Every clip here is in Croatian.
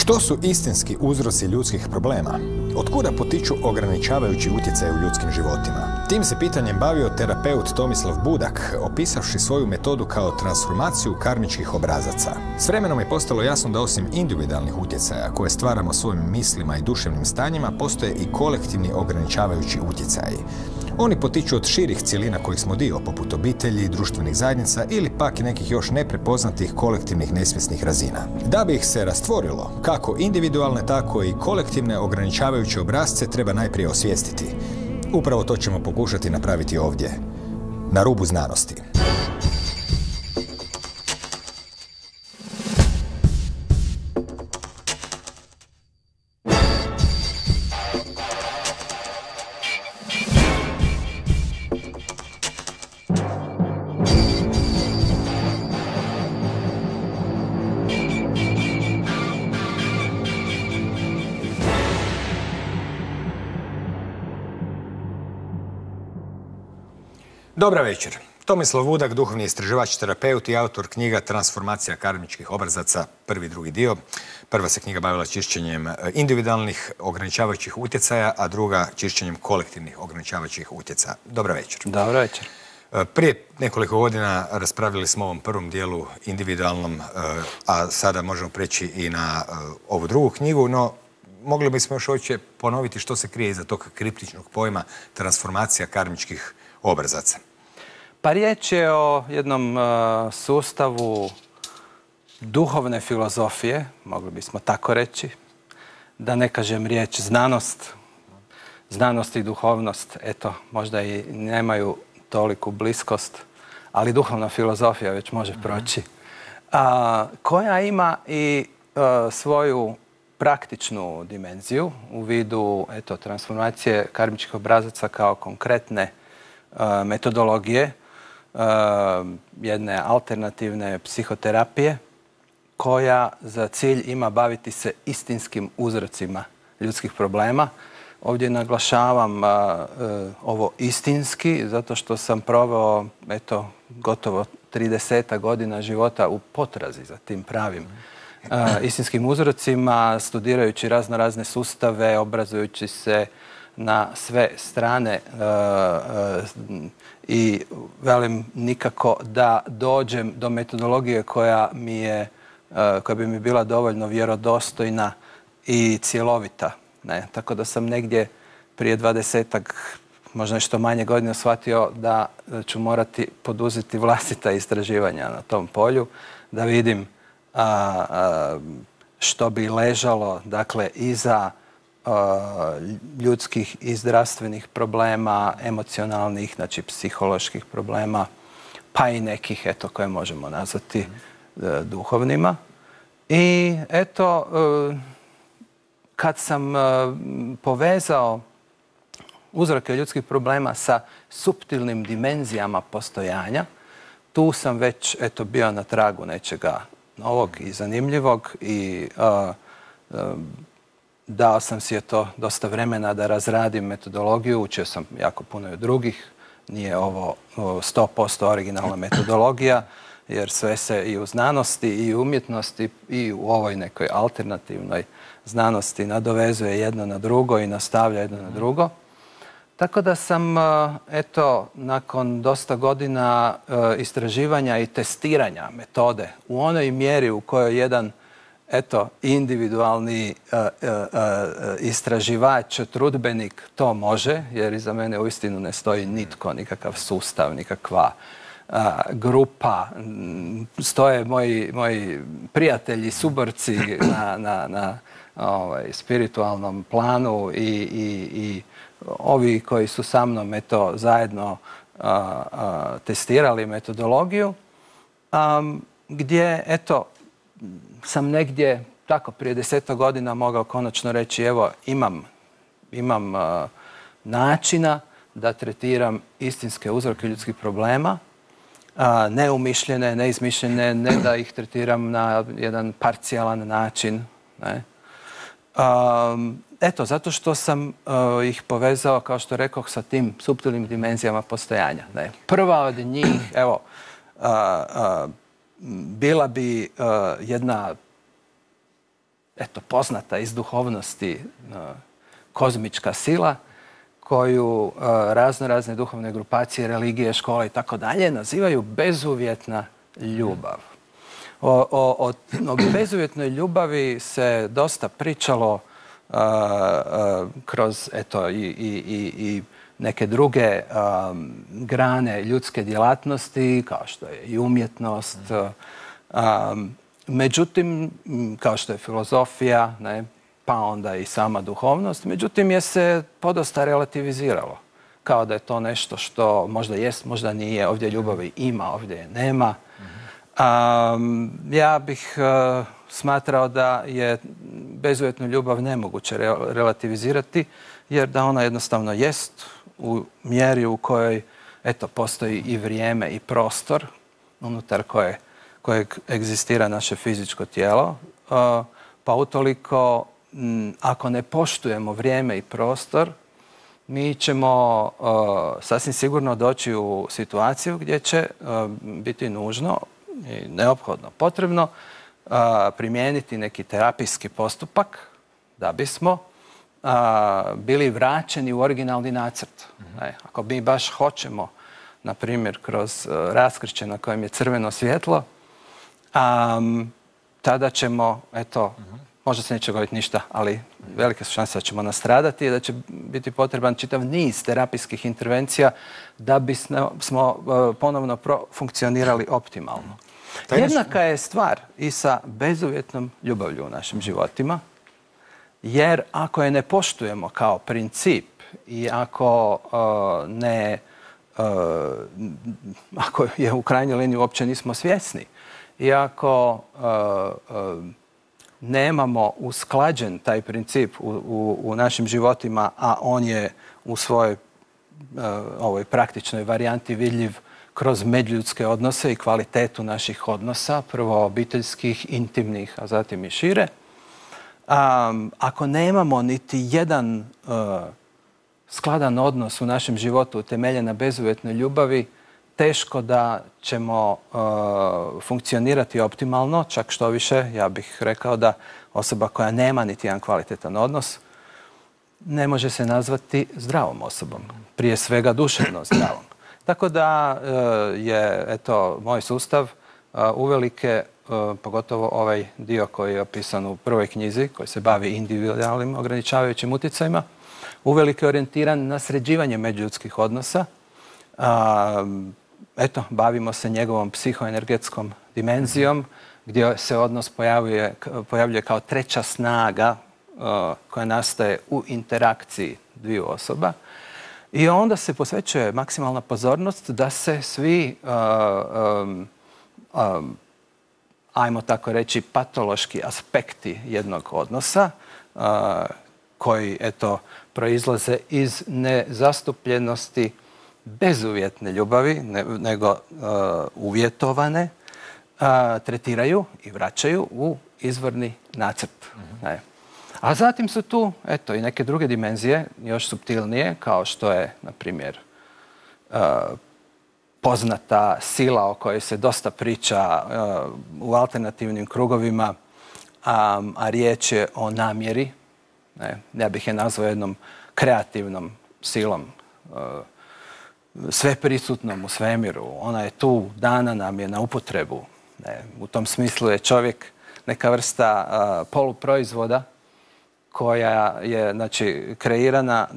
Što su istinski uzroci ljudskih problema? Otkuda potiču ograničavajući utjecaj u ljudskim životima? Tim se pitanjem bavio terapeut Tomislav Budak, opisavši svoju metodu kao transformaciju karmičkih obrazaca. S vremenom je postalo jasno da osim individualnih utjecaja koje stvaramo svojim mislima i duševnim stanjima, postoje i kolektivni ograničavajući utjecaji. Oni potiču od širih cjelina kojih smo dio, poput obitelji, društvenih zajednica ili pak nekih još neprepoznatih kolektivnih nesvjesnih razina. Da bi ih se rastvorilo, kako individualne, tako i kolektivne ograničavajuće obrasce treba najprije osvijestiti. Upravo to ćemo pokušati napraviti ovdje, na rubu znanosti. Dobar večer. Tomislav Budak, duhovni istraživač, terapeut i autor knjiga Transformacija karmičkih obrazaca, prvi i drugi dio. Prva se knjiga bavila čišćenjem individualnih ograničavajućih utjecaja, a druga čišćenjem kolektivnih ograničavajućih utjecaja. Dobar večer. Dobar večer. Prije nekoliko godina raspravili smo o ovom prvom dijelu individualnom, a sada možemo preći i na ovu drugu knjigu, no mogli bismo još hoće ponoviti što se krije iza tog kriptičnog pojma transformacija karmičkih obrazaca. Pa riječ je o jednom sustavu duhovne filozofije, mogli bismo tako reći, da ne kažem riječ znanost. Znanost i duhovnost, eto, možda i nemaju toliku bliskost, ali duhovna filozofija već može proći, koja ima i svoju praktičnu dimenziju u vidu transformacije karmičkih obrazaca kao konkretne metodologije, jedne alternativne psihoterapije koja za cilj ima baviti se istinskim uzrocima ljudskih problema. Ovdje naglašavam ovo istinski zato što sam proveo gotovo 30 godina života u potrazi za tim pravim istinskim uzrocima, studirajući razne sustave, obrazujući se na sve strane i velim nikako da dođem do metodologije koja bi mi bila dovoljno vjerodostojna i cjelovita. Tako da sam negdje prije 20-ak, možda nešto manje godina shvatio da ću morati poduzeti vlastita istraživanja na tom polju, da vidim što bi ležalo, dakle, iza ljudskih i zdravstvenih problema, emocionalnih, znači psiholoških problema, pa i nekih, koje možemo nazvati duhovnima. I kad sam povezao uzroke ljudskih problema sa suptilnim dimenzijama postojanja, tu sam već bio na tragu nečega novog i zanimljivog i dao sam si dosta vremena da razradim metodologiju, učio sam jako puno i od drugih, nije ovo 100% originalna metodologija, jer sve se i u znanosti i u umjetnosti i u ovoj nekoj alternativnoj znanosti nadovezuje jedno na drugo i nastavlja jedno na drugo. Tako da sam, nakon dosta godina istraživanja i testiranja metode u onoj mjeri u kojoj jedan individualni istraživač, trudbenik to može, jer iza mene uistinu ne stoji nitko, nikakav sustav, nikakva grupa. Stoje moji prijatelji, suborci na spiritualnom planu i ovi koji su sa mnom zajedno testirali metodologiju, gdje sam negdje tako prije 10 godina mogao konačno reći evo imam načina da tretiram istinske uzroke ljudskih problema, neumišljene, neizmišljene, ne da ih tretiram na jedan parcijalan način. Zato što sam ih povezao, kao što rekoh, sa tim suptilnim dimenzijama postojanja. Prva od njih, bila bi jedna eto, poznata iz duhovnosti kozmička sila koju razne duhovne grupacije, religije, škole i tako dalje nazivaju bezuvjetna ljubav. O bezuvjetnoj ljubavi se dosta pričalo kroz eto, i neke druge grane ljudske djelatnosti, kao što je i umjetnost, međutim, kao što je filozofija, ne, pa onda i sama duhovnost, međutim je se podosta relativiziralo. Kao da je to nešto što možda jest, možda nije, ovdje ljubavi ima, ovdje je nema. Ja bih smatrao da je bezuvjetnu ljubav nemoguće relativizirati, jer da ona jednostavno jest u mjeri u kojoj eto, postoji i vrijeme i prostor unutar kojeg egzistira naše fizičko tijelo, pa utoliko ako ne poštujemo vrijeme i prostor, mi ćemo sasvim sigurno doći u situaciju gdje će biti nužno i neophodno potrebno primijeniti neki terapijski postupak da bismo bili vraćeni u originalni nacrt. Ako mi baš hoćemo, na primjer, kroz raskršće na kojem je crveno svjetlo, tada ćemo, eto, možda se neće dogoditi ništa, ali velike su šanse da ćemo nastradati i da će biti potreban čitav niz terapijskih intervencija da bismo ponovno funkcionirali optimalno. Jednaka je stvar i sa bezuvjetnom ljubavlju u našim životima, jer ako je ne poštujemo kao princip i ako ako je u krajnjoj liniji uopće nismo svjesni i ako nemamo usklađen taj princip u našim životima, a on je u svojoj ovoj praktičnoj varijanti vidljiv kroz međuljudske odnose i kvalitetu naših odnosa, prvo obiteljskih, intimnih, a zatim i šire. Ako nemamo niti jedan skladan odnos u našem životu utemeljen na bezuvjetnoj ljubavi, teško da ćemo funkcionirati optimalno, čak što više, ja bih rekao da osoba koja nema niti jedan kvalitetan odnos ne može se nazvati zdravom osobom, prije svega duševno zdravom. Tako da je, eto, moj sustav uvelike, pogotovo ovaj dio koji je opisan u prvoj knjizi, koji se bavi individualnim ograničavajućim utjecajima, uvelike orijentiran na sređivanje međuljudskih odnosa. Eto, bavimo se njegovom psihoenergetskom dimenzijom, gdje se odnos pojavljuje kao treća snaga koja nastaje u interakciji dviju osoba. I onda se posvećuje maksimalna pozornost da se svi, ajmo tako reći, patološki aspekti jednog odnosa, koji, eto, proizlaze iz nezastupljenosti bezuvjetne ljubavi, nego uvjetovane, tretiraju i vraćaju u izvorni nacrt. A zatim su tu, eto, i neke druge dimenzije, još suptilnije, kao što je, na primjer, poznata sila o kojoj se dosta priča u alternativnim krugovima, a riječ je o namjeri. Ja bih je nazvao jednom kreativnom silom, sveprisutnom u svemiru. Ona je tu, dana nam je na upotrebu. U tom smislu je čovjek neka vrsta poluproizvoda koja je, znači, kreirana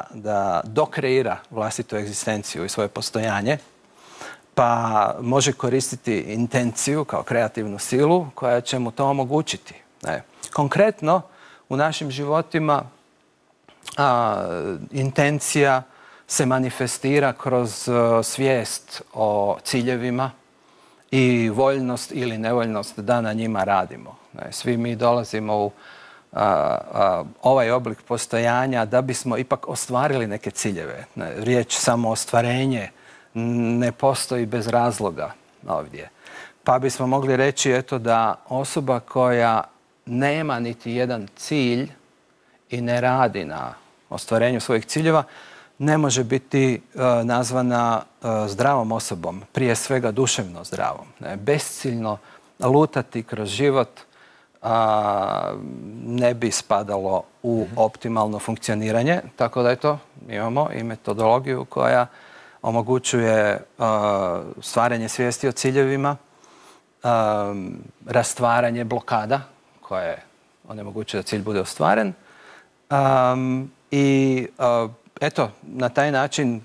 da dokreira vlastitu egzistenciju i svoje postojanje, pa može koristiti intenciju kao kreativnu silu koja će mu to omogućiti. Konkretno, u našim životima intencija se manifestira kroz svijest o ciljevima i voljnost ili nevoljnost da na njima radimo. Svi mi dolazimo u ovaj oblik postojanja da bismo ipak ostvarili neke ciljeve. Riječ samo ostvarenje ne postoji bez razloga ovdje. Pa bismo mogli reći, eto, da osoba koja nema niti jedan cilj i ne radi na ostvarenju svojih ciljeva ne može biti nazvana zdravom osobom, prije svega duševno zdravom. Besciljno lutati kroz život ne bi spadalo u optimalno funkcioniranje. Tako da eto, imamo i metodologiju koja omogućuje stvaranje svijesti o ciljevima, rastvaranje blokada koje onemogućuje da cilj bude ostvaren. I eto, na taj način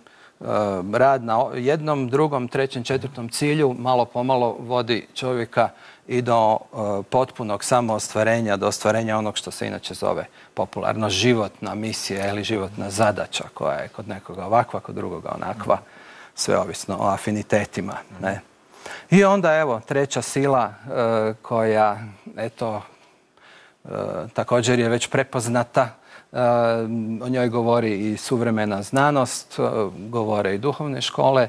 rad na jednom, drugom, trećem, četvrtom cilju malo pomalo vodi čovjeka i do potpunog samoostvarenja, do ostvarenja onog što se inače zove popularno životna misija ili životna zadaća koja je kod nekoga ovakva, kod drugoga onakva, sve ovisno o afinitetima. Ne? I onda evo treća sila koja eto također je već prepoznata. O njoj govori i suvremena znanost, govore i duhovne škole.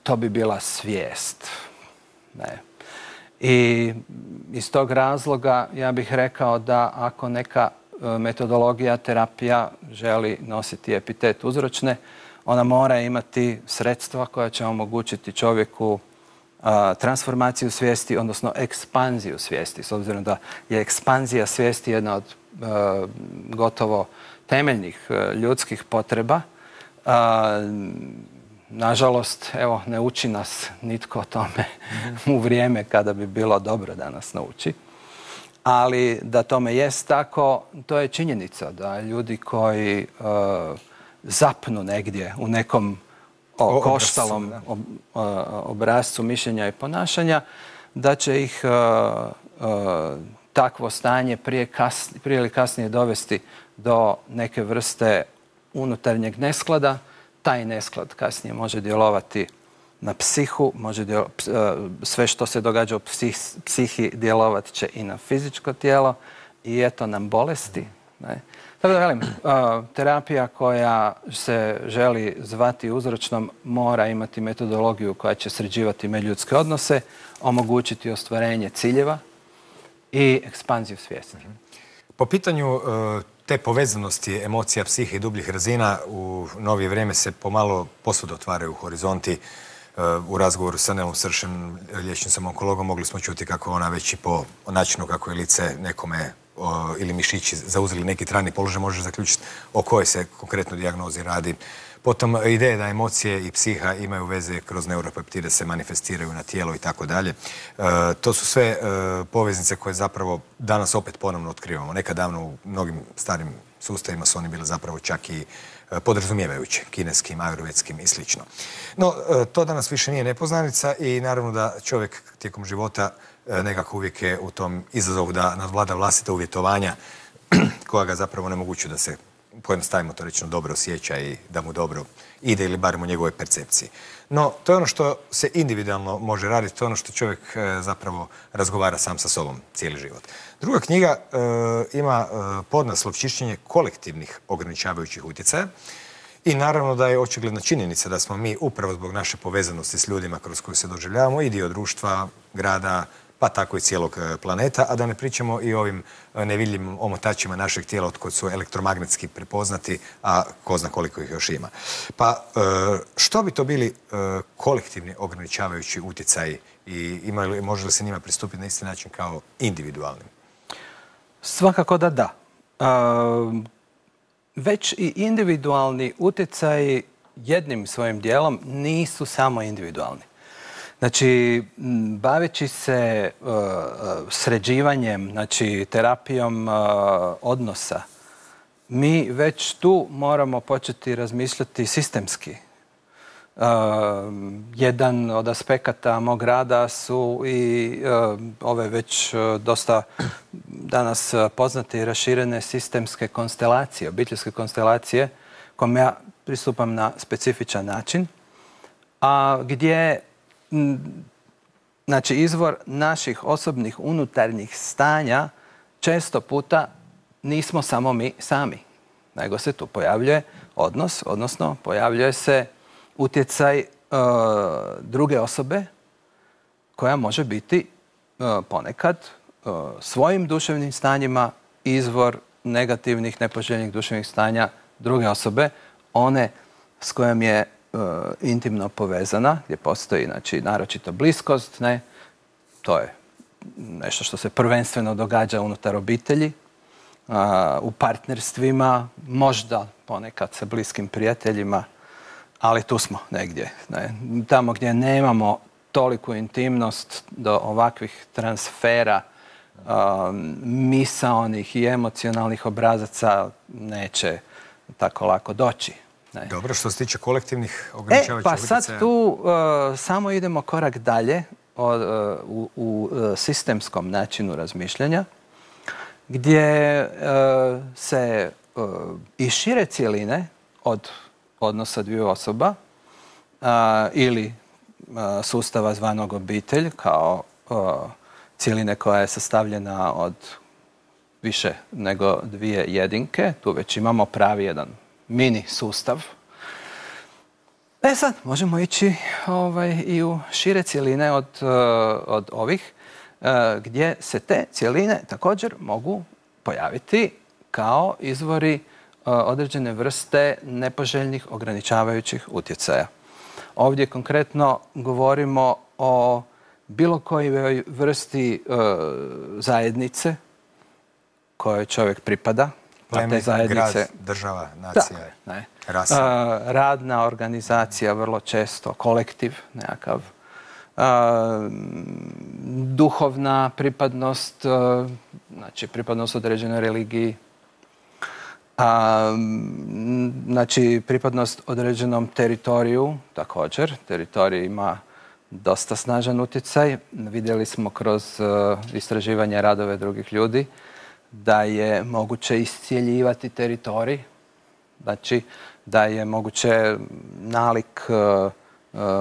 To bi bila svijest. Ne. I iz tog razloga ja bih rekao da ako neka metodologija, terapija želi nositi epitet uzročne, ona mora imati sredstva koja će omogućiti čovjeku transformaciju svijesti, odnosno ekspanziju svijesti, s obzirom da je ekspanzija svijesti jedna od gotovo temeljnih ljudskih potreba. Nažalost, evo, ne uči nas nitko o tome u vrijeme kada bi bilo dobro da nas nauči. Ali da tome jest tako, to je činjenica da ljudi koji zapnu negdje u nekom koštalom obrascu mišljenja i ponašanja, da će ih takvo stanje prije ili kasnije dovesti do neke vrste unutarnjeg nesklada. Taj nesklad kasnije može djelovati na psihu, sve što se događa u psihi djelovat će i na fizičko tijelo i eto nam bolesti. Ne? Tako da velim, terapija koja se želi zvati uzročnom mora imati metodologiju koja će sređivati međuljudske odnose, omogućiti ostvarenje ciljeva i ekspanziju svijesti. Po pitanju te povezanosti emocija, psihe i dubljih razina u novije vrijeme se pomalo posvuda otvaraju horizonti. U razgovoru sa Nelom Sršem, liječnicom onkologom, mogli smo čuti kako ona već i po načinu kako je lice nekome ili mišići zauzeli neki trajni položaj može zaključiti o kojoj se konkretno dijagnozi radi. Potom ideje da emocije i psiha imaju veze kroz neuropeptide, se manifestiraju na tijelo i tako dalje. To su sve poveznice koje zapravo danas opet ponovno otkrivamo. Nekad davno u mnogim starim sustavima su oni bili zapravo čak i podrazumijevajući, kineskim, ajurvedskim i slično. No, to danas više nije nepoznanica i naravno da čovjek tijekom života nekako uvijek je u tom izazovu da nadvlada vlastita uvjetovanja koja ga zapravo onemogućuju da se, pojednostavimo to reći, dobro osjeća i da mu dobro ide ili barem u njegovoj percepciji. No, to je ono što se individualno može raditi, to je ono što čovjek zapravo razgovara sam sa sobom cijeli život. Druga knjiga ima podnaslov Čišćenje kolektivnih ograničavajućih utjecaja i naravno da je očigledna činjenica da smo mi upravo zbog naše povezanosti s ljudima kroz koju se doživljavamo i dio društva, grada, pa tako i cijelog planeta, a da ne pričamo i o ovim nevidljivim omotačima našeg tijela od kojih su elektromagnetski prepoznati, a ko zna koliko ih još ima. Pa što bi to bili kolektivni ograničavajući utjecaji i može li se njima pristupiti na isti način kao individualnim? Svakako da da. Već i individualni utjecaji jednim svojim dijelom nisu samo individualni. Znači, baveći se sređivanjem, znači terapijom odnosa, mi već tu moramo početi razmišljati sistemski. Jedan od aspekata mog rada su i ove već dosta danas poznate i raširene sistemske konstelacije, obiteljske konstelacije, kojom ja pristupam na specifičan način, a gdje znači izvor naših osobnih unutarnjih stanja često puta nismo samo mi sami, nego se tu pojavljuje odnos, odnosno pojavljuje se utjecaj druge osobe koja može biti ponekad svojim duševnim stanjima izvor negativnih, nepoželjnih duševnih stanja druge osobe, one s kojom je intimno povezana, gdje postoji, znači, naročito bliskost, ne, to je nešto što se prvenstveno događa unutar obitelji, u partnerstvima, možda ponekad sa bliskim prijateljima, ali tu smo negdje. Tamo gdje nemamo toliku intimnost do ovakvih transfera misaonih i emocionalnih obrazaca neće tako lako doći. Dobro, što se tiče kolektivnih ograničavajućih utjecaja? Pa sad tu samo idemo korak dalje u sistemskom načinu razmišljanja, gdje se i šire cjeline od odnosa dviju osoba ili sustava zvanog obitelj kao cjeline koja je sastavljena od više nego dvije jedinke. Tu već imamo pravi jedan mini sustav. Sad možemo ići i u šire cjeline od ovih, gdje se te cjeline također mogu pojaviti kao izvori određene vrste nepoželjnih ograničavajućih utjecaja. Ovdje konkretno govorimo o bilo kojoj vrsti zajednice kojoj čovjek pripada. Pleme, grad, država, nacija, rasa. Radna organizacija, vrlo često kolektiv nekakav. Duhovna pripadnost, znači pripadnost određenoj religiji. Znači pripadnost određenom teritoriju također. Teritorij ima dosta snažan utjecaj. Vidjeli smo kroz istraživanje radove drugih ljudi da je moguće iscijeljivati teritorij. Znači da je moguće nalik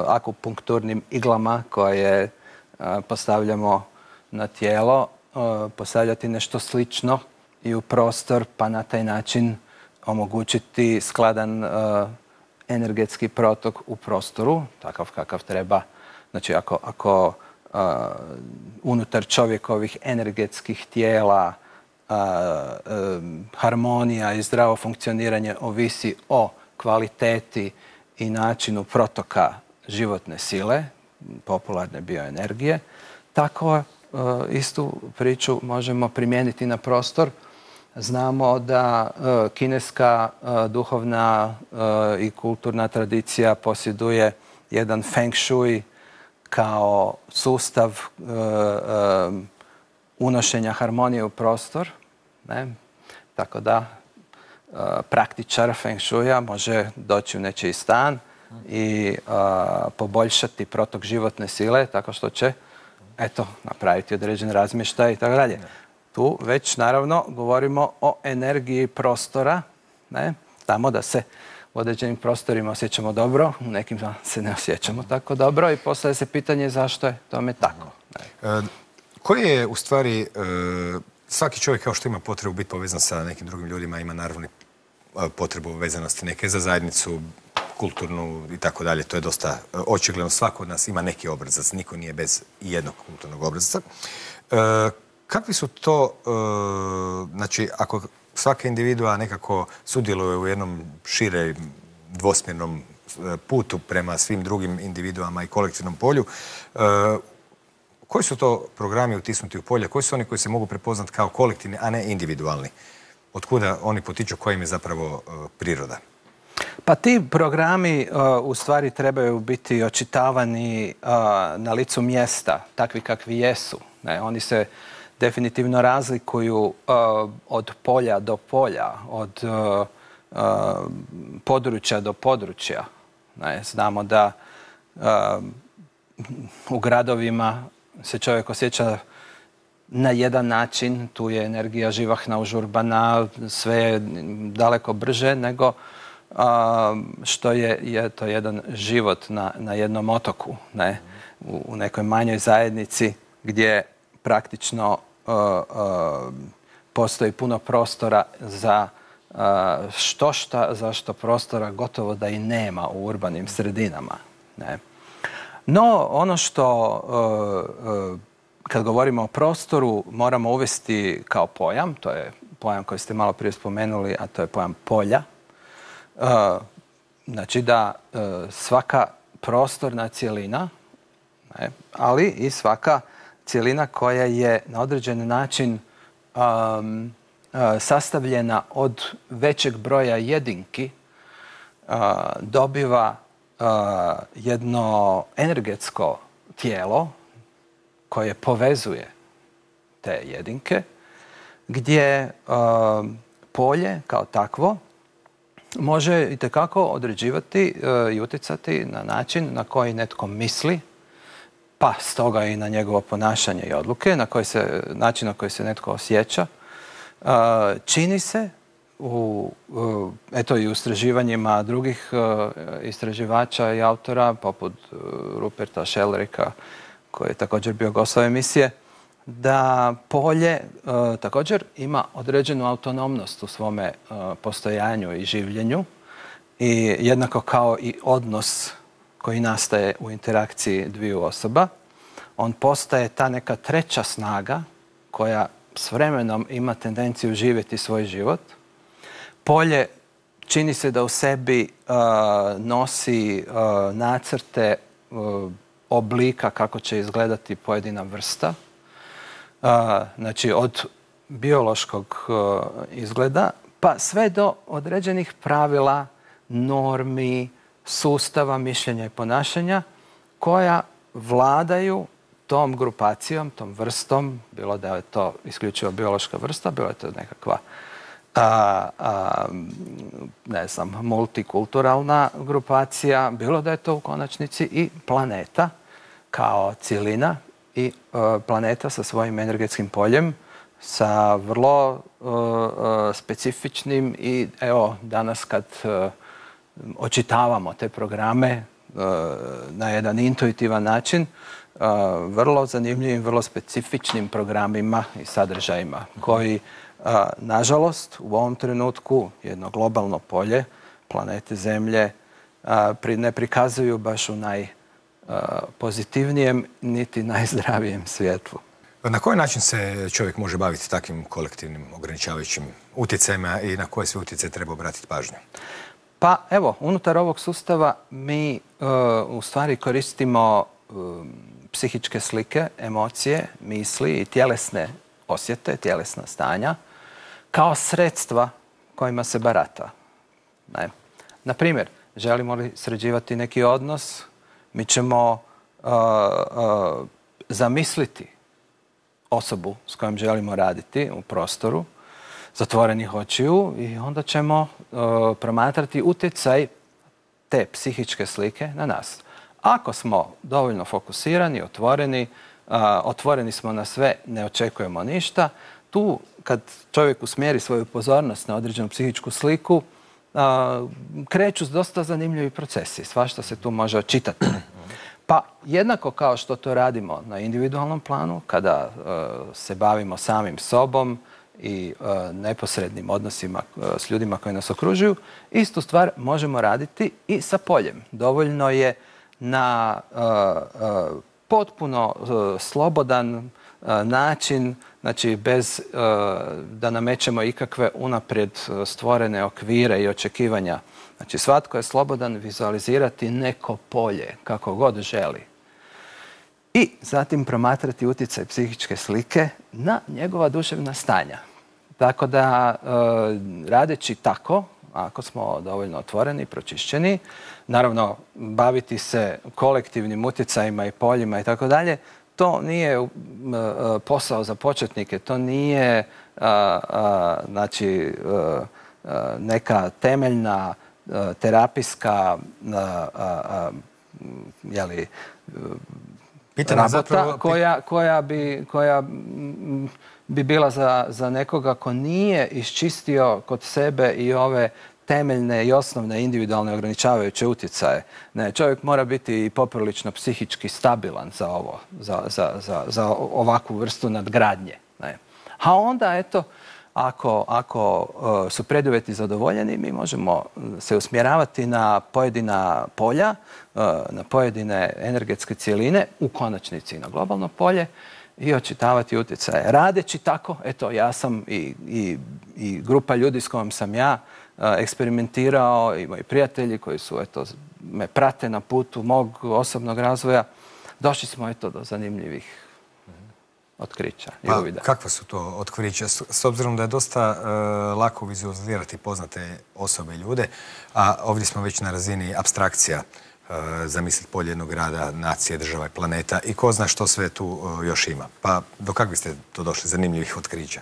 akupunkturnim iglama koje postavljamo na tijelo, postavljati nešto slično i u prostor, pa na taj način omogućiti skladan energetski protok u prostoru, takav kakav treba. Znači ako unutar čovjekovih energetskih tijela harmonija i zdravo funkcioniranje ovisi o kvaliteti i načinu protoka životne sile, popularne bioenergije, tako istu priču možemo primijeniti na prostor. Znamo da kineska duhovna i kulturna tradicija posjeduje jedan feng shui kao sustav unošenja harmonije u prostor. Tako da praktičar feng shuia može doći u nečiji stan i poboljšati protok životne sile tako što će napraviti određen razmještaj i tako dalje. Tu već naravno govorimo o energiji prostora, tamo da se u određenim prostorima osjećamo dobro, u nekim se ne osjećamo tako dobro i postavlja se pitanje zašto je tome tako. Koji je u stvari, svaki čovjek kao što ima potrebu biti povezan sa nekim drugim ljudima, ima naravno potrebu vezanosti neke za zajednicu, kulturnu i tako dalje. To je dosta očigledno. Svako od nas ima neki obrazac. Niko nije bez jednog kulturnog obrazca. Kakvi su to, znači, ako svaka individua nekako sudjeluje u jednom šire dvosmjernom putu prema svim drugim individuama i kolektivnom polju, koji su to programi utisnuti u polje? Koji su oni koji se mogu prepoznati kao kolektivni, a ne individualni? Otkuda oni potiču, kojim je zapravo priroda? Pa ti programi u stvari trebaju biti očitavani na licu mjesta, takvi kakvi jesu. Oni se definitivno razlikuju od polja do polja, od područja do područja. Znamo da u gradovima se čovjek osjeća na jedan način, tu je energija živahna, užurbana, sve je daleko brže nego što je to jedan život na jednom otoku, u nekoj manjoj zajednici gdje praktično postoji puno prostora za zašto prostora gotovo da i nema u urbanim sredinama. No, ono što kad govorimo o prostoru moramo uvesti kao pojam, to je pojam koji ste malo prije spomenuli, a to je pojam polja. Znači da svaka prostorna cjelina, ali i svaka cjelina koja je na određen način sastavljena od većeg broja jedinki, dobiva jedno energetsko tijelo koje povezuje te jedinke, gdje polje kao takvo može itekako određivati i utjecati na način na koji netko misli, pa stoga i na njegovo ponašanje i odluke, način na koji se netko osjeća. Čini se i u istraživanjima drugih istraživača i autora, poput Ruperta Shellerika, koji je također bio gost ove emisije, da polje također ima određenu autonomnost u svome postojanju i življenju, i jednako kao i odnos koji nastaje u interakciji dviju osoba. On postaje ta neka treća snaga koja s vremenom ima tendenciju živjeti svoj život. Polje čini se da u sebi nosi nacrte oblika kako će izgledati pojedina vrsta. Znači od biološkog izgleda pa sve do određenih pravila, normi, sustava mišljenja i ponašanja koja vladaju tom grupacijom, tom vrstom, bilo da je to isključivo biološka vrsta, bilo je to nekakva multikulturalna grupacija, bilo da je to u konačnici i planeta kao cjelina i planeta sa svojim energetskim poljem, sa vrlo specifičnim i evo danas kad očitavamo te programe na jedan intuitivan način, vrlo zanimljivim, vrlo specifičnim programima i sadržajima koji, nažalost, u ovom trenutku jedno globalno polje planete Zemlje ne prikazuju baš u najpozitivnijem niti najzdravijem svjetlu. Na koji način se čovjek može baviti takvim kolektivnim ograničavajućim utjecajima i na koje sve utjecaje treba obratiti pažnju? Pa evo, unutar ovog sustava mi u stvari koristimo psihičke slike, emocije, misli i tjelesne osjete, tjelesna stanja kao sredstva kojima se barata. Na primjer, želimo li sređivati neki odnos, mi ćemo zamisliti osobu s kojom želimo raditi u prostoru, zatvorenih očiju, i onda ćemo promatrati utjecaj te psihičke slike na nas. Ako smo dovoljno fokusirani, otvoreni smo na sve, ne očekujemo ništa, tu kad čovjek usmjeri svoju pozornost na određenu psihičku sliku, kreću dosta zanimljivi procesi. Svašta se tu može očitati. Pa jednako kao što to radimo na individualnom planu, kada se bavimo samim sobom i neposrednim odnosima s ljudima koji nas okružuju, istu stvar možemo raditi i sa poljem. Dovoljno je na potpuno slobodan način, znači bez da namećemo ikakve unaprijed stvorene okvire i očekivanja. Znači svatko je slobodan vizualizirati neko polje kako god želi. I zatim promatrati utjecaj psihičke slike na njegova duševna stanja. Tako da radeći tako, ako smo dovoljno otvoreni i pročišćeni, naravno baviti se kolektivnim utjecajima i poljima i tako dalje, to nije posao za početnike, to nije neka temeljna terapijska rabota koja bi bila za nekoga ko nije iščistio kod sebe i ove temeljne i osnovne individualne ograničavajuće utjecaje. Ne, čovjek mora biti i poprilično psihički stabilan za ovo, za ovakvu vrstu nadgradnje. Ne. A onda, eto, ako su preduvjeti zadovoljeni, mi možemo se usmjeravati na pojedina polja, na pojedine energetske cjeline, u konačnici na globalno polje, i očitavati utjecaje. Radeći tako, eto, ja sam i grupa ljudi s kojom sam ja eksperimentirao, i moji prijatelji koji su, eto, me prate na putu mog osobnog razvoja, došli smo, eto, do zanimljivih otkrića i Pa, uvida. kakva su to otkrića? S obzirom da je dosta lako vizualizirati poznate osobe i ljude, a ovdje smo već na razini apstrakcija, zamisliti polje jednog grada, nacije, država i planeta i ko zna što sve tu još ima. Pa do kakvi ste to došli zanimljivih otkrića?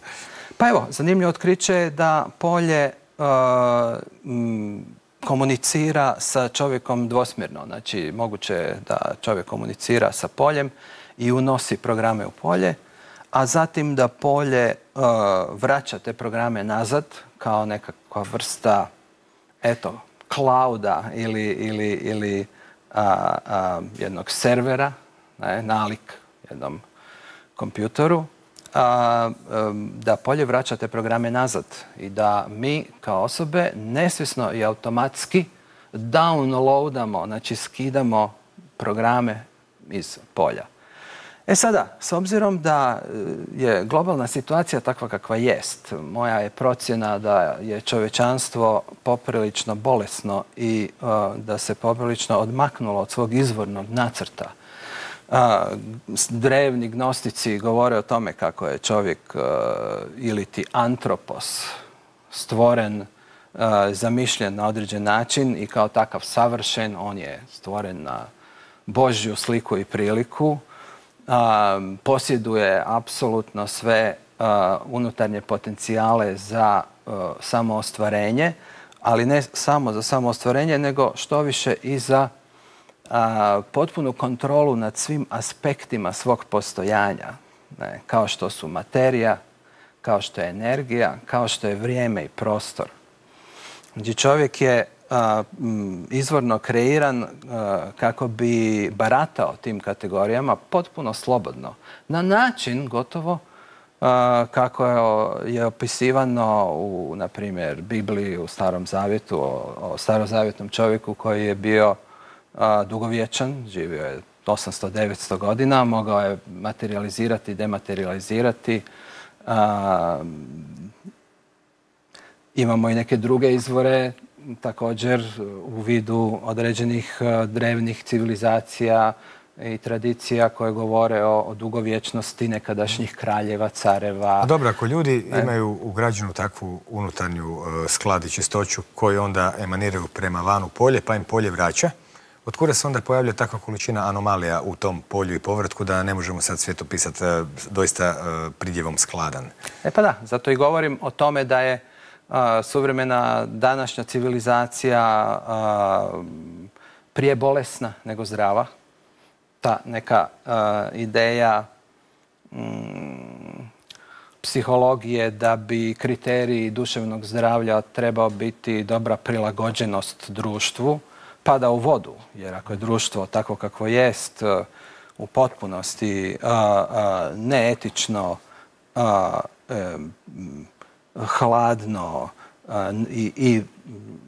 Pa evo, zanimljivo otkriće je da polje komunicira sa čovjekom dvosmjerno. Znači, moguće je da čovjek komunicira sa poljem i unosi programe u polje, a zatim da polje vraća te programe nazad kao nekakva vrsta, eto, clouda ili jednog servera, nalik jednom kompjutoru, da polje vraća te programe nazad i da mi kao osobe nesvjesno i automatski downloadamo, znači skidamo programe iz polja. E sada, s obzirom da je globalna situacija takva kakva jest, moja je procjena da je čovječanstvo poprilično bolesno i da se poprilično odmaknulo od svog izvornog nacrta. Drevni gnostici govore o tome kako je čovjek ili ti antropos stvoren, zamišljen na određen način i kao takav savršen. On je stvoren na Božju sliku i priliku. Posjeduje apsolutno sve unutarnje potencijale za samoostvarenje, ali ne samo za samoostvarenje, nego što više i za potpunu kontrolu nad svim aspektima svog postojanja, kao što su materija, kao što je energija, kao što je vrijeme i prostor. Znači, čovjek je izvorno kreiran kako bi baratao tim kategorijama potpuno slobodno. Na način gotovo kako je opisivano u, na primjer, Bibliji, u Starom Zavjetu, o starozavjetnom čovjeku koji je bio dugovječan, živio je 800-900 godina, mogao je materializirati i dematerializirati. Imamo i neke druge izvore, također u vidu određenih drevnih civilizacija i tradicija koje govore o dugovječnosti nekadašnjih kraljeva, careva. Dobro, ako ljudi imaju ugrađenu takvu unutarnju sklad i čistoću koji onda emaniraju prema vanu polje, pa im polje vraća, otkuda se onda pojavlja takva količina anomalija u tom polju i povratku da ne možemo sad svijet opisati doista pridjevom skladan? E pa da, zato i govorim o tome da je suvremena današnja civilizacija prije bolesna nego zdrava. Ta neka ideja psihologije da bi kriterij duševnog zdravlja trebao biti dobra prilagođenost društvu, pada u vodu. Jer ako je društvo takvo kakvo jest, u potpunosti neetično, hladno i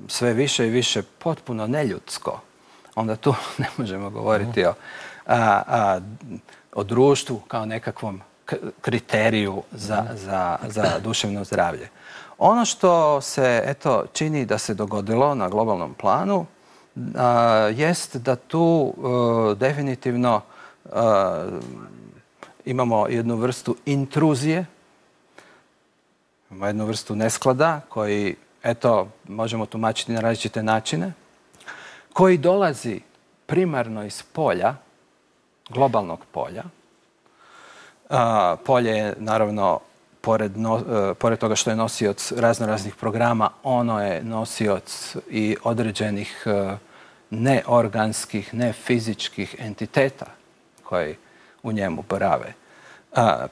sve više i više potpuno neljudsko, onda tu ne možemo govoriti o društvu kao nekakvom kriteriju za duševno zdravlje. Ono što se eto čini da se dogodilo na globalnom planu jest da tu definitivno imamo jednu vrstu intruzije, imamo jednu vrstu nesklada koji, eto, možemo tumačiti na različite načine, koji dolazi primarno iz polja, globalnog polja. Polje je, naravno, pored toga što je nosioc raznoraznih programa, ono je nosioc i određenih neorganskih, nefizičkih entiteta koji u njemu borave.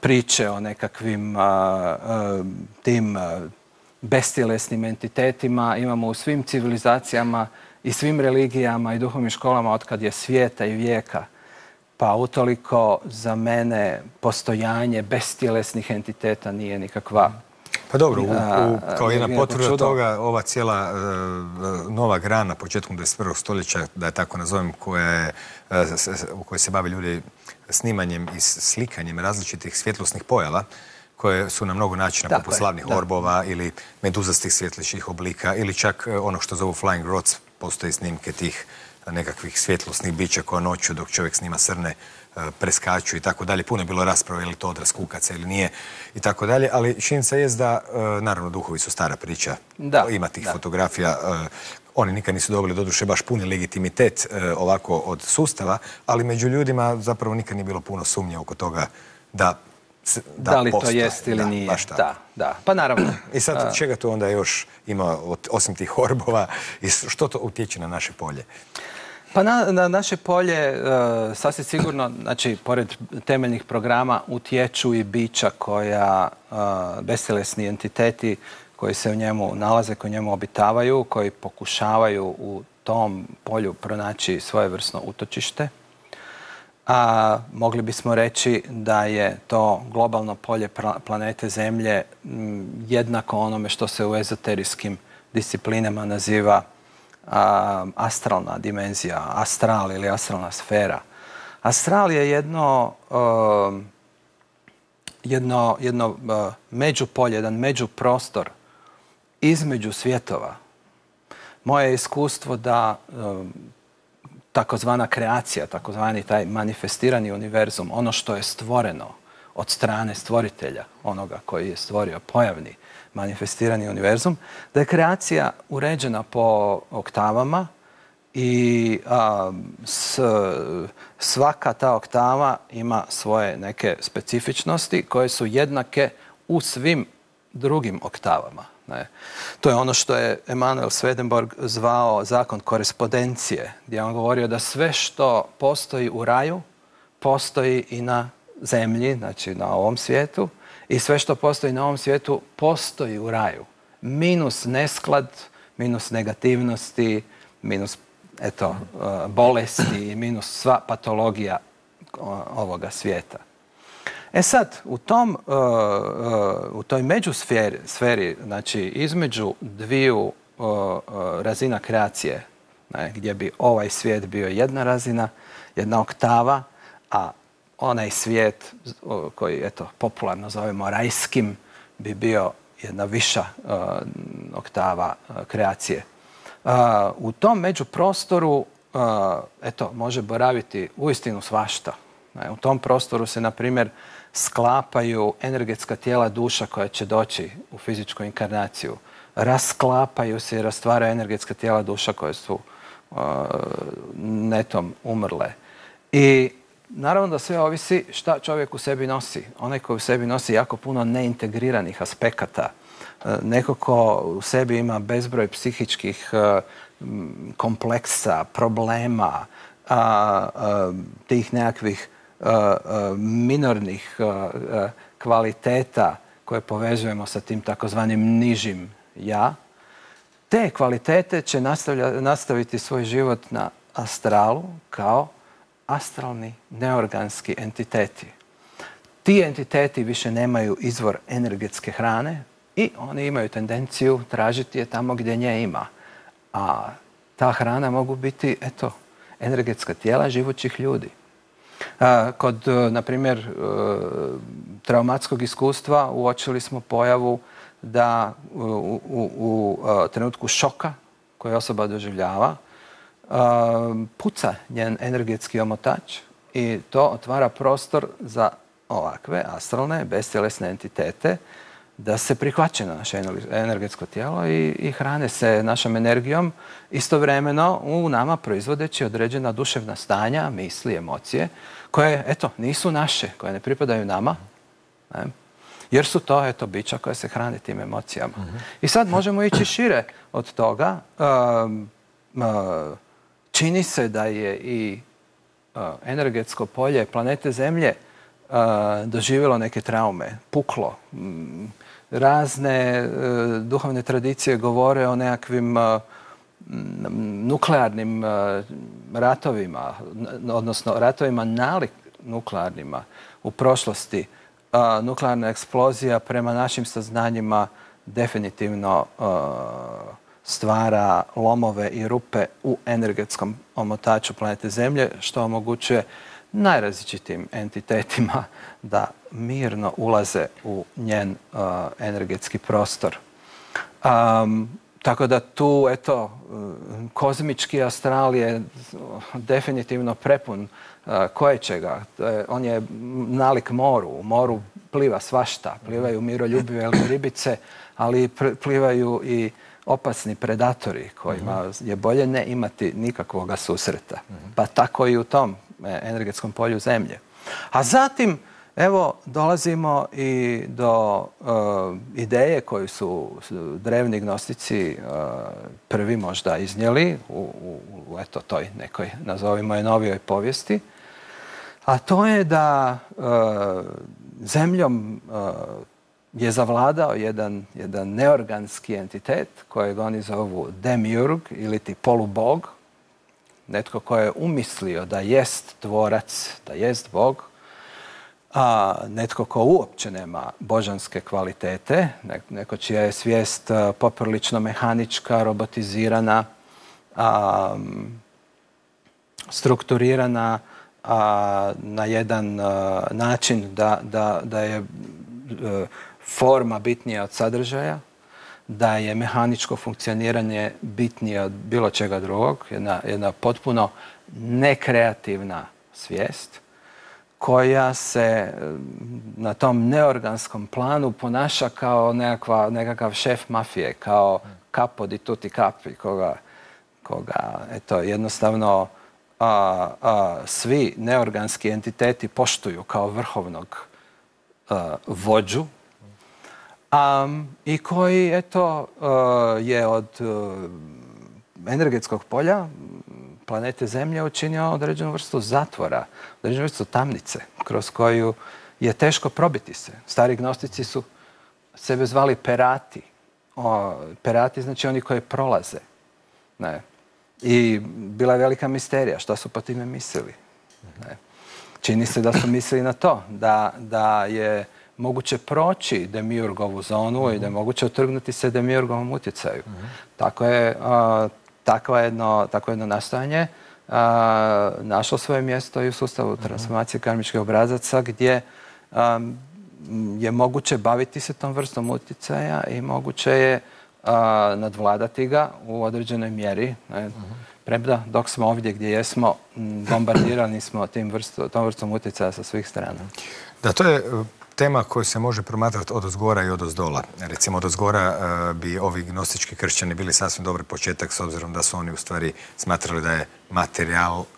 Priče o nekakvim tim bestjelesnim entitetima imamo u svim civilizacijama i svim religijama i duhovnim školama otkad je svijeta i vijeka. Pa utoliko za mene postojanje bestjelesnih entiteta nije nikakva... Pa dobro, kao jedna potvrda toga, ova cijela nova grana početkom 21. stoljeća, da je tako nazovem, u kojoj se bave ljudi snimanjem i slikanjem različitih svjetlosnih pojava, koje su na mnogo načina poput slavnih orbova ili meduzastih svjetlećih oblika ili čak ono što zovu flying rods, postoje snimke tih nekakvih svjetlosnih bića koja noću dok čovjek snima srne preskaču i tako dalje. Puno je bilo rasprave je li to odraz kukaca ili nije i tako dalje, ali činjenica je da, naravno, duhovi su stara priča. Ima tih fotografija. Oni nikad nisu dobili, doduše, baš puni legitimitet ovako od sustava, ali među ljudima zapravo nikad nije bilo puno sumnje oko toga da li to jest ili nije. Da. Pa naravno. I sad čega tu onda još ima, osim tih orbova, i što to utječe na naše polje? Pa na naše polje sasvim sigurno, znači, pored temeljnih programa utječu i bića koja, bestjelesni entiteti koji se u njemu nalaze, koji u njemu obitavaju, koji pokušavaju u tom polju pronaći svojevrsno utočište. A mogli bismo reći da je to globalno polje planete Zemlje jednako onome što se u ezoterijskim disciplinama naziva astralna dimenzija, astral ili astralna sfera. Astral je jedno međupolje, jedan međuprostor između svjetova. Moje iskustvo da takozvana kreacija, takozvani taj manifestirani univerzum, ono što je stvoreno od strane stvoritelja, onoga koji je stvorio pojavni manifestirani univerzum, da je kreacija uređena po oktavama i svaka ta oktava ima svoje neke specifičnosti koje su jednake u svim drugim oktavama. To je ono što je Emanuel Swedenborg zvao zakon korespondencije, gdje je on govorio da sve što postoji u raju, postoji i na zemlji, znači na ovom svijetu, i sve što postoji na ovom svijetu postoji u raju. Minus nesklad, minus negativnosti, minus bolesti, minus sva patologija ovoga svijeta. E sad, u toj međusferi, znači između dviju razina kreacije, gdje bi ovaj svijet bio jedna razina, jedna oktava, a onaj svijet koji, popularno zovemo rajskim, bi bio jedna viša oktava kreacije. U tom međuprostoru, može boraviti uistinu svašta. U tom prostoru se, na primjer, sklapaju energetska tijela duša koja će doći u fizičku inkarnaciju. Rasklapaju se i rastvaraju energetska tijela duša koje su netom umrle. I naravno da sve ovisi šta čovjek u sebi nosi. Onaj koji u sebi nosi jako puno neintegriranih aspekata. Neko ko u sebi ima bezbroj psihičkih kompleksa, problema, tih nekakvih minornih kvaliteta koje povezujemo sa tim takozvanim nižim ja, te kvalitete će nastaviti svoj život na astralu kao astralni neorganski entiteti. Ti entiteti više nemaju izvor energetske hrane i oni imaju tendenciju tražiti je tamo gdje nje ima. A ta hrana mogu biti, energetska tijela živućih ljudi. Kod, na primjer, traumatskog iskustva uočili smo pojavu da u trenutku šoka koji osoba doživljava puca njen energetski omotač i to otvara prostor za ovakve astralne, bestjelesne entitete da se prihvaće na naše energetsko tijelo i hrane se našom energijom, istovremeno u nama proizvodeći određena duševna stanja, misli, emocije, koje, nisu naše, koje ne pripadaju nama, jer su to, bića koje se hrane tim emocijama. I sad možemo ići šire od toga. Čini se da je i energetsko polje planete Zemlje doživjelo neke traume, puklo. Razne duhovne tradicije govore o nekakvim nuklearnim ratovima, odnosno ratovima nalik nuklearnima u prošlosti. Nuklearna eksplozija prema našim saznanjima definitivno stvara lomove i rupe u energetskom omotaču planete Zemlje, što omogućuje najrazličitim entitetima da mirno ulaze u njen energetski prostor. Tako da tu, eto, kozmički astral je definitivno prepun koječega. On je nalik moru. U moru pliva svašta. Plivaju miroljubive ribice, ali plivaju i opasni predatori kojima je bolje ne imati nikakvoga susreta. Pa tako i u tom energetskom polju zemlje. A zatim, evo, dolazimo i do ideje koju su drevni gnostici prvi možda iznijeli u eto, toj nekoj, nazovimo je, novijoj povijesti. A to je da zemljom je zavladao jedan neorganski entitet kojeg oni zovu demiurg ili ti polubog. Netko ko je umislio da jest tvorac, da jest Bog, a netko ko uopće nema božanske kvalitete, neko čija je svijest poprilično mehanička, robotizirana, strukturirana na jedan način da je forma bitnija od sadržaja, da je mehaničko funkcioniranje bitnije od bilo čega drugog, jedna potpuno nekreativna svijest koja se na tom neorganskom planu ponaša kao nekakav šef mafije, kao capo di tutti capi, koga eto, jednostavno svi neorganski entiteti poštuju kao vrhovnog vođu, i koji, eto, je od energetskog polja planete Zemlje učinio određenu vrstu zatvora, određenu vrstu tamnice, kroz koju je teško probiti se. Stari gnostici su sebe zvali perati. Perati znači oni koji prolaze. Ne. I bila je velika misterija šta su po time mislili. Ne. Čini se da su mislili na to, da je moguće proći demiurgovu zonu i da je moguće otrgnuti se demiurgovom utjecaju. Takvo jedno nastojanje našlo svoje mjesto i u sustavu transformacije karmičkih obrazaca, gdje je moguće baviti se tom vrstom utjecaja i moguće je nadvladati ga u određenoj mjeri. Premda dok smo ovdje gdje jesmo, bombardirani smo tom vrstom utjecaja sa svih strana. Da, to je tema koju se može promatrati od ozgora i od ozdola. Recimo, od ozgora bi ovi gnostički kršćani bili sasvim dobar početak, s obzirom da su oni u stvari smatrali da je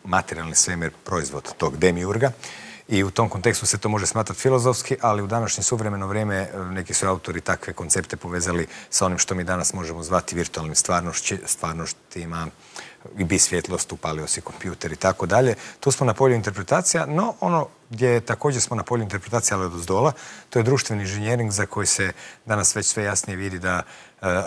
materijalni svemir proizvod tog demiurga. I u tom kontekstu se to može smatrati filozofski, ali u današnje suvremeno vrijeme neki su autori takve koncepte povezali sa onim što mi danas možemo zvati virtualnim stvarnostima, i bi svjetlost, upalio si kompjuter i tako dalje. Tu smo na polju interpretacija, no ono gdje također smo na polju interpretacija, ali od ozdola, to je društveni inženjering za koji se danas već sve jasnije vidi da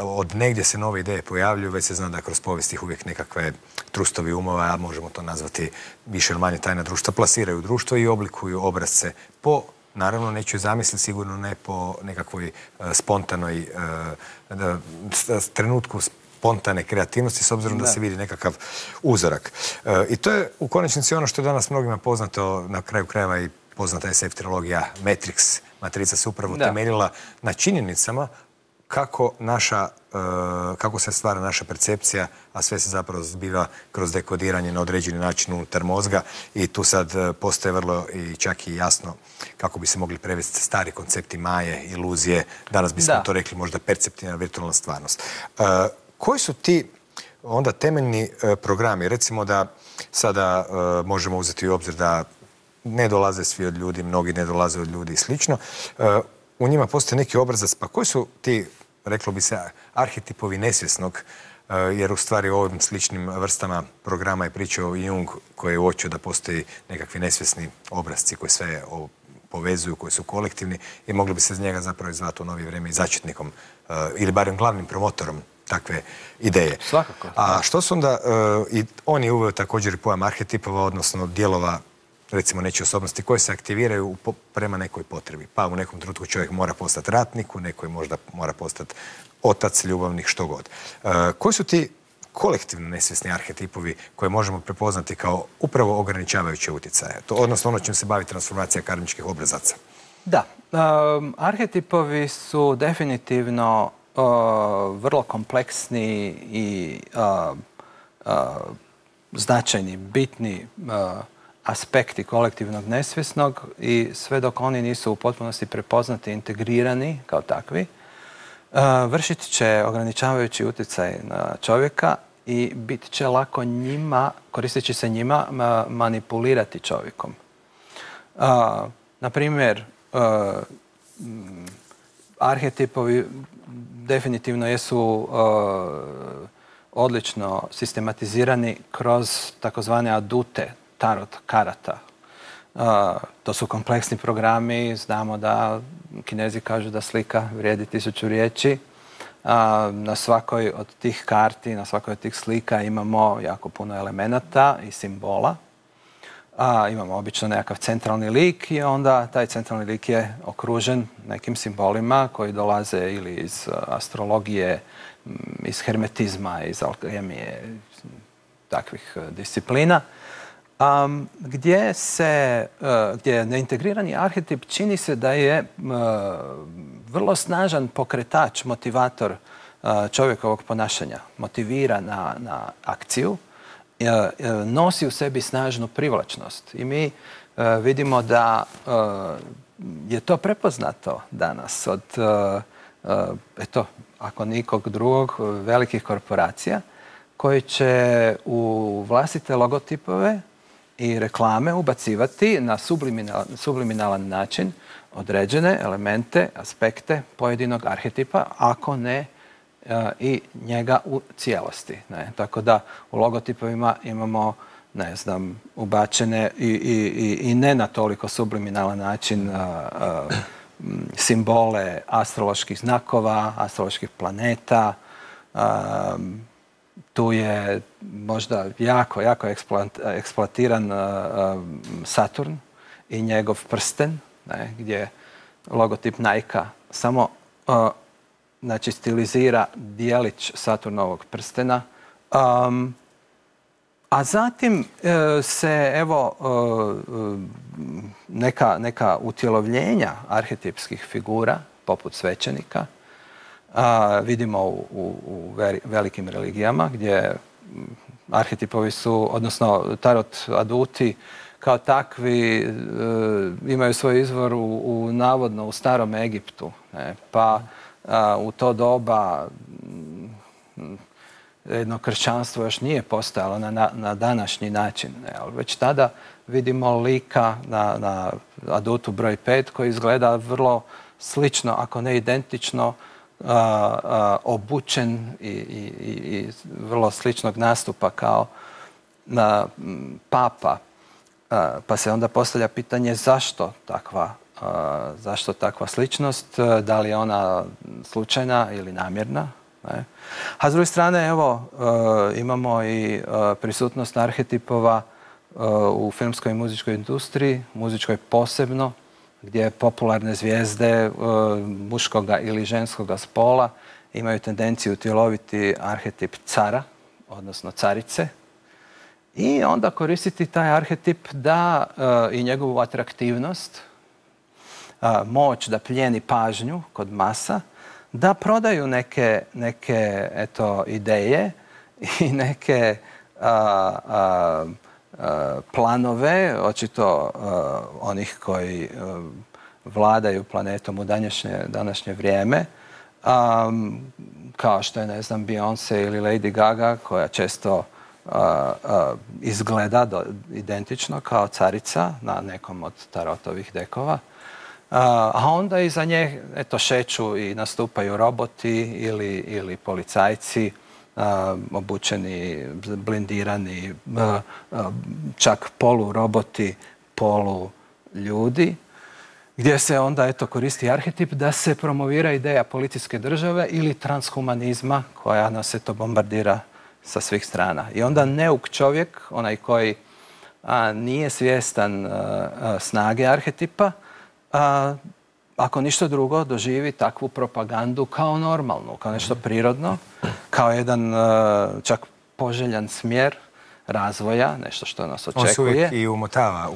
od negdje se nove ideje pojavljuju, već se zna da kroz povijest ih uvijek nekakve trustovi umova, a možemo to nazvati više ili manje tajna društva, plasiraju društvo i oblikuju obrazce po, naravno, neću zamisliti, sigurno ne po nekakvoj spontanoj trenutku spontane kreativnosti, s obzirom da se vidi nekakav uzorak. I to je u konačnici ono što je danas mnogima poznato, na kraju krajeva i poznata SF trilogija Matrix. Matrica se upravo temeljila na činjenicama kako se stvara naša percepcija, a sve se zapravo zbiva kroz dekodiranje na određeni način unutar mozga i tu sad postoje vrlo i čak i jasno kako bi se mogli prevesti stari koncepti maje, iluzije. Danas bismo to rekli možda perceptivna virtualna stvarnost. Koji su ti onda temeljni programi? Recimo da sada možemo uzeti u obzir da ne dolaze svi od ljudi, mnogi ne dolaze od ljudi i slično. U njima postoji neki obrazac, pa koji su ti, reklo bi se, arhetipovi nesvjesnog, jer u stvari u ovim sličnim vrstama programa je pričao i Jung, koji je uočio da postoji nekakvi nesvjesni obrazci koji sve povezuju, koji su kolektivni i mogli bi se iz njega zapravo izvati u novije vrijeme i začetnikom ili barem glavnim promotorom takve ideje. Svakako. A što su onda, i on je uveo također i pojam arhetipova, odnosno dijelova, recimo, nečije osobnosti koje se aktiviraju prema nekoj potrebi. Pa u nekom trenutku čovjek mora postati ratnik, u nekoj možda mora postati otac, ljubavnik, što god. Koji su ti kolektivno nesvjesni arhetipovi koje možemo prepoznati kao upravo ograničavajuće utjecaje? Odnosno ono čim se bavi transformacija karmičkih obrazaca. Da. Arhetipovi su definitivno vrlo kompleksni i značajni, bitni aspekti kolektivnog nesvjesnog i sve dok oni nisu u potpunosti prepoznati i integrirani kao takvi, vršit će ograničavajući utjecaj na čovjeka i bit će lako njima, koristeći se njima, manipulirati čovjekom. Na primjer, arhetipovi definitivno jesu odlično sistematizirani kroz takozvane adute, tarot karata. To su kompleksni programi, znamo da Kinezi kažu da slika vrijedi 1000 riječi. Na svakoj od tih karti, na svakoj od tih slika imamo jako puno elemenata i simbola. Imamo obično nekakav centralni lik i onda taj centralni lik je okružen nekim simbolima koji dolaze ili iz astrologije, iz hermetizma, iz alkemije, takvih disciplina, gdje neintegrirani arhetip čini se da je vrlo snažan pokretač, motivator čovjekovog ponašanja. Motivira na akciju, nosi u sebi snažnu privlačnost. I mi vidimo da je to prepoznato danas od, ako nikog drugog, velikih korporacija koji će u vlastite logotipove i reklame ubacivati na subliminalan način određene elemente, aspekte pojedinog arhetipa, ako ne i njega u cijelosti. Tako da u logotipovima imamo, ne znam, ubačene i ne na toliko subliminalan način simbole astroloških znakova, astroloških planeta. Tu je možda jako eksploatiran Saturn i njegov prsten, gdje logotip Nike samo stilizira dijelić Saturnovog prstena. A zatim se neka utjelovljenja arhetipskih figura, poput svećenika, vidimo u velikim religijama gdje arhetipovi su, odnosno tarot aduti kao takvi imaju svoj izvor navodno u starom Egiptu. Pa u to doba jedno kršćanstvo još nije postojalo na današnji način. Već tada vidimo lika na adutu broj 5 koji izgleda vrlo slično, ako ne identično, obučen i vrlo sličnog nastupa kao papa. Pa se onda postavlja pitanje zašto takva sličnost, da li je ona slučajna ili namjerna. A s druge strane, imamo i prisutnost arhetipova u filmskoj i muzičkoj industriji, muzičkoj posebno, gdje popularne zvijezde muškoga ili ženskoga spola imaju tendenciju utjeloviti arhetip cara, odnosno carice, i onda koristiti taj arhetip i njegovu atraktivnost, moć da plijeni pažnju kod masa, da prodaju neke ideje i neke planove, očito onih koji vladaju planetom u današnje vrijeme, kao što je, ne znam, Beyoncé ili Lady Gaga, koja često izgleda identično kao carica na nekom od tarotovih dekova. A onda iza nje šeću i nastupaju roboti ili policajci, obučeni, blindirani, čak poluroboti, poluljudi, gdje se onda koristi arhetip da se promovira ideja policijske države ili transhumanizma koja nas bombardira sa svih strana. I onda neuk čovjek, onaj koji nije svjestan snage arhetipa, ako ništa drugo, doživi takvu propagandu kao normalnu, kao nešto prirodno, kao jedan čak poželjan smjer razvoja, nešto što nas očekuje. On se uvijek i umotava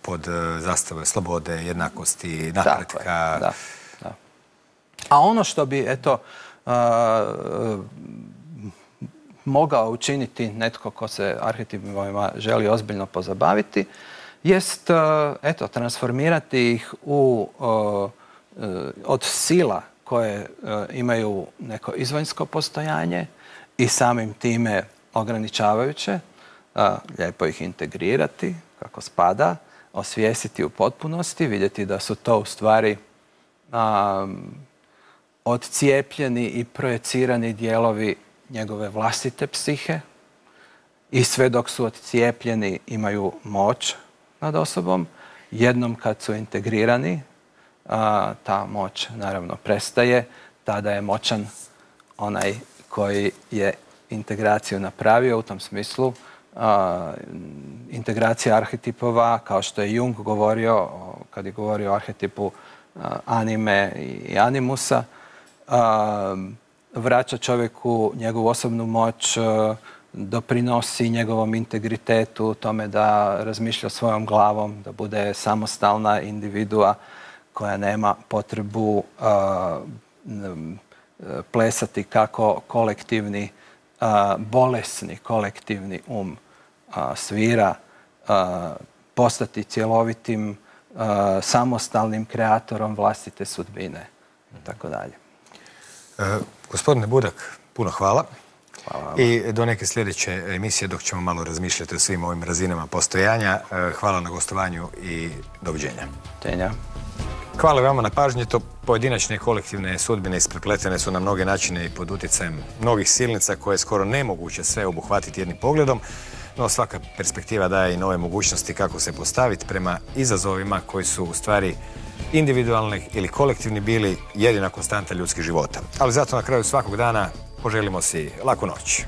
pod zastave slobode, jednakosti, napretka. Da. A ono što bi, mogao učiniti netko ko se arhetipima želi ozbiljno pozabaviti, jest transformirati ih od sila koje imaju neko izvanjsko postojanje i samim time ograničavajuće, lijepo ih integrirati kako spada, osvijestiti u potpunosti, vidjeti da su to u stvari odcijepljeni i projecirani dijelovi njegove vlastite psihe i sve dok su odcijepljeni imaju moć nad osobom. Jednom kad su integrirani, ta moć naravno prestaje, tada je moćan onaj koji je integraciju napravio. U tom smislu integracija arhetipova, kao što je Jung govorio kad je govorio o arhetipu anime i animusa, vraća čovjeku njegovu osobnu moć, doprinosi njegovom integritetu, tome da razmišlja svojom glavom, da bude samostalna individua koja nema potrebu plesati kako kolektivni, bolesni kolektivni svira, postati cjelovitim, samostalnim kreatorom vlastite sudbine i tako dalje. Gospodine Budak, puno hvala. I do neke sljedeće emisije dok ćemo malo razmišljati o svim ovim razinama postojanja. Hvala na gostovanju i doviđenja. Hvala vama na pažnji. To pojedinačne i kolektivne sudbine isprepletene su na mnoge načine i pod utjecajem mnogih silnica koje je skoro nemoguće sve obuhvatiti jednim pogledom, no svaka perspektiva daje i nove mogućnosti kako se postaviti prema izazovima koji su u stvari individualni ili kolektivni bili jedina konstanta ljudskih života. Ali zato na kraju svakog dana poželimo si laku noć.